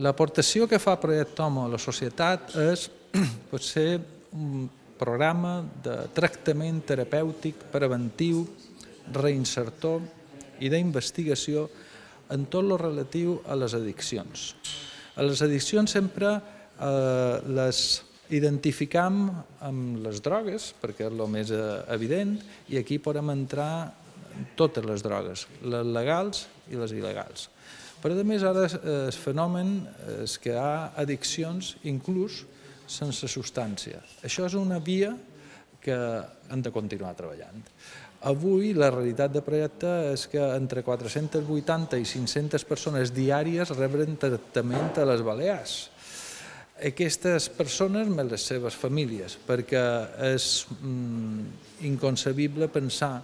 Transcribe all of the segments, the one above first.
L'aportació que fa Projecte Homo a la societat és potser un programa de tractament terapèutic, preventiu, reinsertor i d'investigació en tot el relatiu a les addiccions. A les addiccions sempre les identificam amb les drogues, perquè és el més evident, i aquí podem entrar totes les drogues, les legals i les il·legals. Però a més ara el fenomen és que hi ha addiccions inclús sense substància. Això és una via que hem de continuar treballant. Avui la realitat de projecte és que entre 480 i 500 persones diàries reben tractament a les Balears. Aquestes persones més les seves famílies, perquè és inconcebible pensar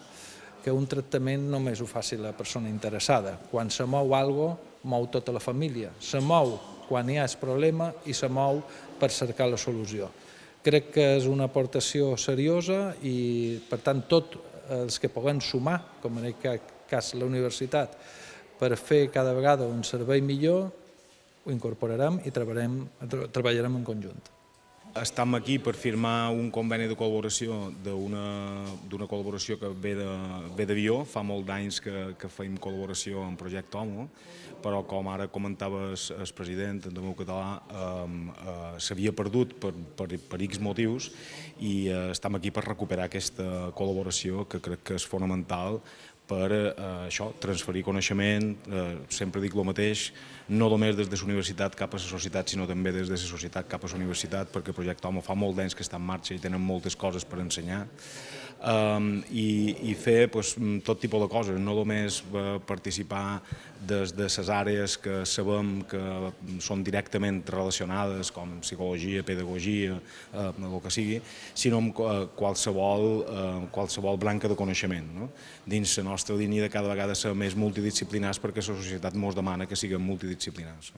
que un tractament només ho faci la persona interessada. Quan se mou alguna cosa, mou tota la família. Se mou quan hi ha el problema i se mou per cercar la solució. Crec que és una aportació seriosa i, per tant, tots els que puguem sumar, com en aquest cas la universitat, per fer cada vegada un servei millor, ho incorporarem i treballarem en conjunt. Estem aquí per firmar un conveni de col·laboració d'una col·laboració que ve d'Avió. Fa molt d'anys que fem col·laboració en Projecte Homo, però com ara comentava el president de meu català, s'havia perdut per X motius i estem aquí per recuperar aquesta col·laboració que crec que és fonamental per això, transferir coneixement, sempre dic el mateix, no només des de la universitat cap a la societat, sinó també des de la societat cap a la universitat, perquè Projecte Homo fa molt d'anys que està en marxa i tenen moltes coses per ensenyar, i fer tot tipus de coses, no només participar des de les àrees que sabem que són directament relacionades, com psicologia, pedagogia, el que sigui, sinó amb qualsevol branca de coneixement. Dins la nostra línia de cada vegada ser més multidisciplinars, perquè la societat ens demana que siguem multidisciplinars.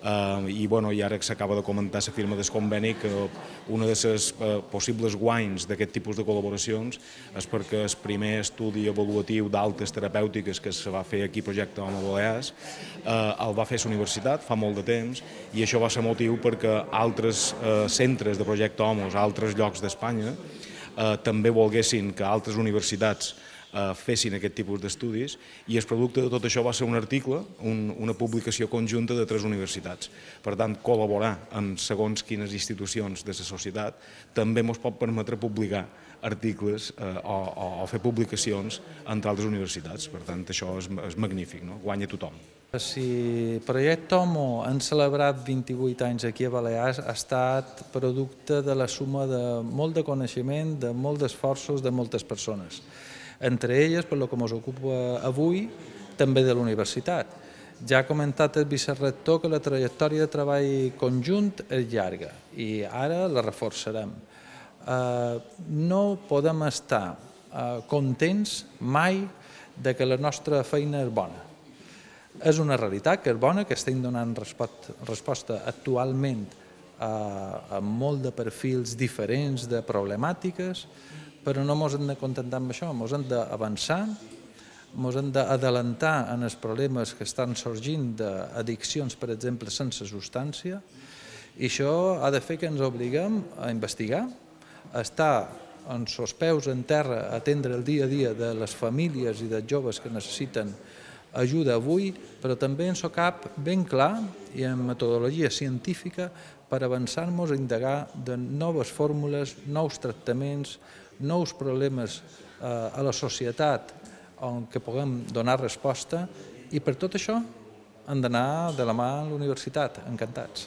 I ara que s'acaba de comentar la firma del conveni, que una de les possibles guanys d'aquest tipus de col·laboracions és perquè el primer estudi avaluatiu d'altes terapèutiques que se va fer aquí a Projecte Homo Balears el va fer la universitat fa molt de temps, i això va ser motiu perquè altres centres de Projecte Homo a altres llocs d'Espanya també volguessin que altres universitats fessin aquest tipus d'estudis, i el producte de tot això va ser un article, una publicació conjunta de 3 universitats. Per tant, col·laborar amb segons quines institucions de la societat també ens pot permetre publicar articles o fer publicacions entre altres universitats. Per tant, això és magnífic, guanya tothom. Si Projecte Homo han celebrat 28 anys aquí a Balears, ha estat producte de la suma de molt de coneixement, de molts esforços de moltes persones. Entre elles, per el que ens ocupa avui, també de la universitat. Ja ha comentat el vicerector que la trajectòria de treball conjunt és llarga i ara la reforçarem. No podem estar contents mai que la nostra feina és bona. És una realitat que és bona, que estem donant resposta actualment a molt de perfils diferents de problemàtiques, però no ens hem de contentar amb això, ens hem d'avançar, ens hem d'adelantar en els problemes que estan sorgint d'addiccions, per exemple, sense substància, i això ha de fer que ens obliguem a investigar, a estar amb els peus en terra, a atendre el dia a dia de les famílies i dels joves que necessiten ajuda avui, però també ens ho cap ben clar i amb metodologia científica per avançar-nos a indagar de noves fórmules, nous tractaments, nous problemes a la societat on que puguem donar resposta, i per tot això hem d'anar de la mà a la universitat, encantats.